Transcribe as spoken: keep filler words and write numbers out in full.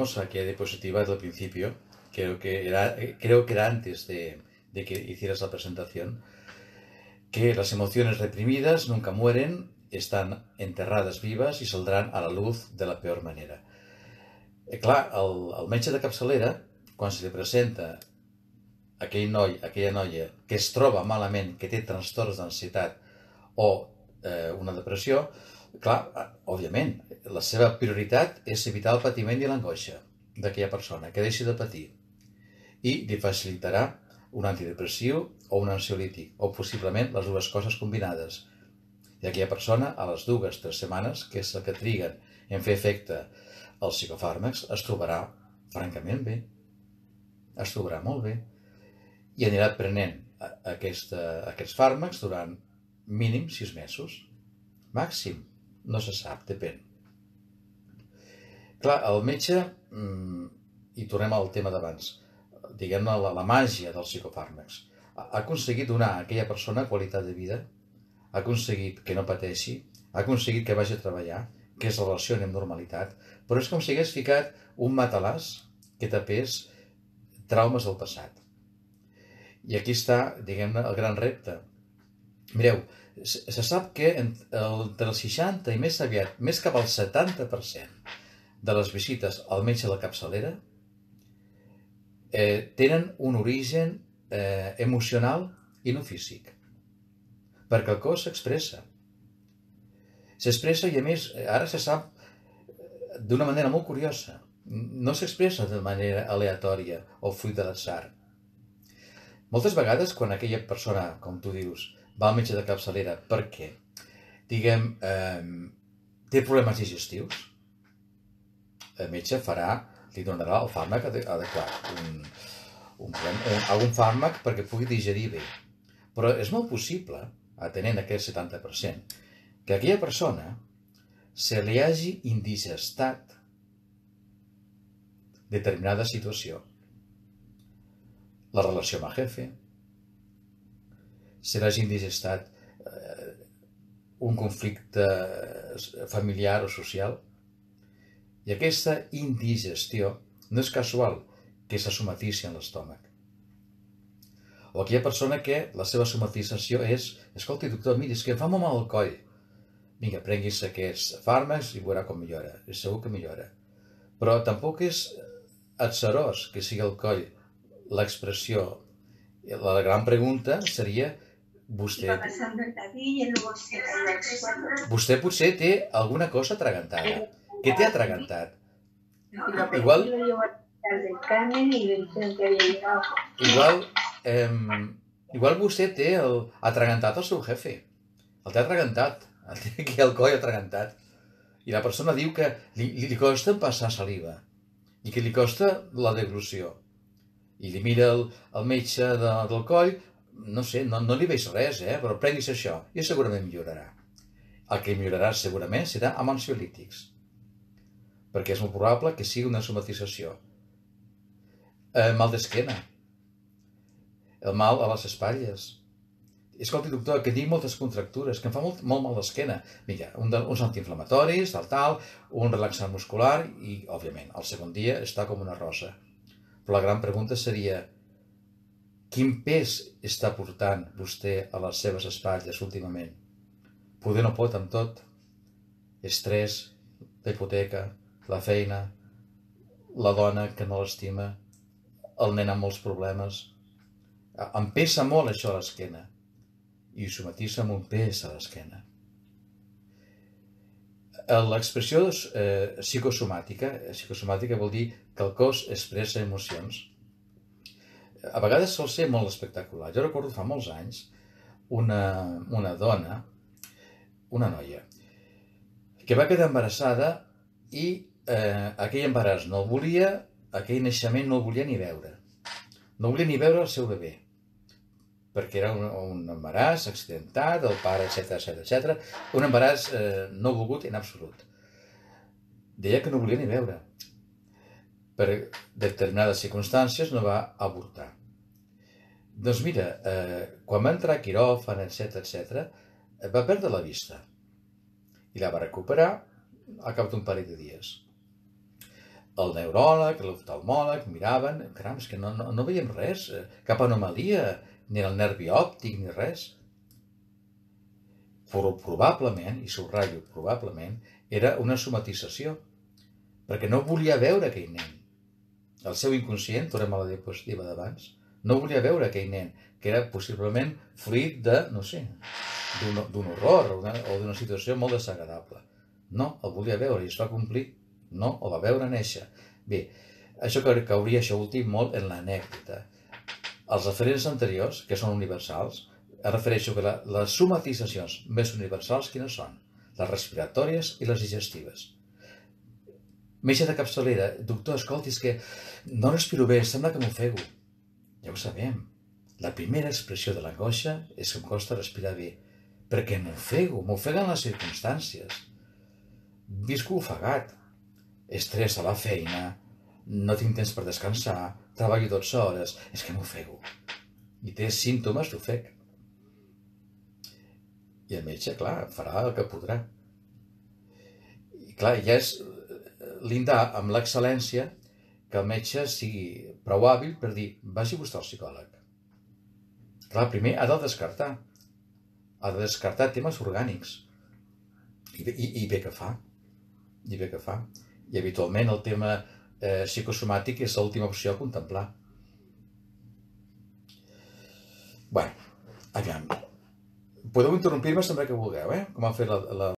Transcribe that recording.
Que diapositiva al principio, creo que era, creo que era antes de, de que hicieras la presentación, que las emociones reprimidas nunca mueren, están enterrades vivas i saldran a la luz de la peor manera. Eh, clar, el, el metge de capçalera, quan se li presenta aquell noi, aquella noia que es troba malament, que té trastorns d'ansietat o eh, una depressió, clar, òbviament, la seva prioritat és evitar el patiment i l'angoixa d'aquella persona, que deixi de patir, i li facilitarà un antidepressiu o un ansiolític, o possiblement les dues coses combinades. I aquella persona, a les dues o tres setmanes, que és el que triguen en fer efecte els psicofàrmacs, es trobarà francament bé, es trobarà molt bé, i anirà prenent aquesta, aquests fàrmacs durant mínim sis mesos. Màxim, no se sap, depèn. Clar, el metge, i tornem al tema d'abans, diguem-ne la, la màgia dels psicofàrmacs, ha aconseguit donar a aquella persona qualitat de vida, ha aconseguit que no pateixi, ha aconseguit que vagi a treballar, que es relacioni amb normalitat, però és com si hagués ficat un matalàs que tapés traumes del passat. I aquí està, diguem-ne, el gran repte. Mireu, se sap que entre el seixanta i més aviat, més cap al setanta per cent de les visites al metge de la capçalera eh, tenen un origen eh, emocional i no físic, perquè el cos s'expressa. S'expressa i, a més, ara se sap d'una manera molt curiosa. No s'expressa de manera aleatòria o fruit de l'atzar. Moltes vegades, quan aquella persona, com tu dius, va al metge de capçalera perquè, diguem, eh, té problemes digestius, el metge farà, li donarà el fàrmac adequat, un, un, un, algun fàrmac perquè pugui digerir bé. Però és molt possible, atenent aquest setanta per cent, que aquella persona se li hagi indigestat determinada situació. La relació amb el jefe, se l'hagi indigestat eh, un conflicte familiar o social. I aquesta indigestió no és casual que se somatitzi en l'estómac. O aquella persona que la seva somatització és: escolti, doctor, miri, és que em fa molt mal el coll. Vinga, prenguis aquests fàrmacs i veurà com millora. És segur que millora. Però tampoc és atzarós que sigui el coll l'expressió. La gran pregunta seria: vostè, vostè potser té alguna cosa atragantada. Què té atragantat? Igual, igual, eh, igual vostè té el, atragantat el seu jefe. El té atragantat. El té aquí el coll atragantat. I la persona diu que li, li costa passar saliva i que li costa la deglució. I li mira el, el metge de, del coll, no sé, no, no li veig res, eh? Però prenguis això i segurament millorarà. El que millorarà segurament serà amb ansiolítics, perquè és molt probable que sigui una somatització. Eh, mal d'esquena, el mal a les espatlles. Escolti, doctor, que tinc moltes contractures, que em fa molt, molt mal d'esquena. Vinga, un de, uns antiinflamatoris, tal, tal, un relaxant muscular i, òbviament, el segon dia està com una rosa. Però la gran pregunta seria: quin pes està portant vostè a les seves espatlles últimament? Poder no pot amb tot. Estrès, la hipoteca, la feina, la dona que no l'estima, el nen amb molts problemes. Em pesa molt això a l'esquena i somatitza amb un pes a l'esquena. L'expressió eh, psicosomàtica, psicosomàtica vol dir que el cos expressa emocions. A vegades sol ser molt espectacular. Jo recordo fa molts anys una, una dona, una noia, que va quedar embarassada i eh, aquell embaràs no el volia, aquell naixement no el volia ni veure. No volia ni veure el seu bebè, perquè era un, un embaràs accidentat, el pare, etcètera, etcètera, etcètera, un embaràs eh, no volgut en absolut. Deia que no volia ni veure. Per determinades circumstàncies no va avortar. Doncs mira, eh, quan va entrar a quiròfan, etcètera, etcètera, va perdre la vista i la va recuperar al cap d'un parell de dies. el neuròleg, l'oftalmòleg, miraven, caram, és que no, no, no veiem res, cap anomalia, ni en el nervi òptic, ni res. Però probablement, i subratllo probablement, era una somatització, perquè no volia veure aquell nen. El seu inconscient, tornem a la diapositiva d'abans, no volia veure aquell nen, que era possiblement fruit de, no sé, d'un horror o d'una situació molt desagradable. No, el volia veure i es va complir. No, el va veure néixer. Bé, això cauria, això últim, molt en l'anècdota. Els referents anteriors, que són universals, es refereixo que la, les somatitzacions més universals, quines són? Les respiratòries i les digestives. Metge de capçalera, doctor, escolti, és que no respiro bé, sembla que m'ofego. Ja ho sabem. La primera expressió de l'angoixa és que em costa respirar bé, perquè m'ofego, m'ofeguen les circumstàncies. Visco ofegat, estrès a la feina, no tinc temps per descansar, treballo dotze hores, és que m'ofego. I té símptomes d'ofec. I el metge, clar, farà el que podrà. I clar, ja és lindar amb l'excel·lència que el metge sigui prou hàbil per dir, vagi vostè al psicòleg. Clar, primer ha de descartar. Ha de descartar temes orgànics. I, i, i bé que fa. I bé que fa. I habitualment el tema eh, psicosomàtic és l'última opció a contemplar. Bé, aviam. Podeu interrompir-me sempre que vulgueu, eh? Com ha fet la, la,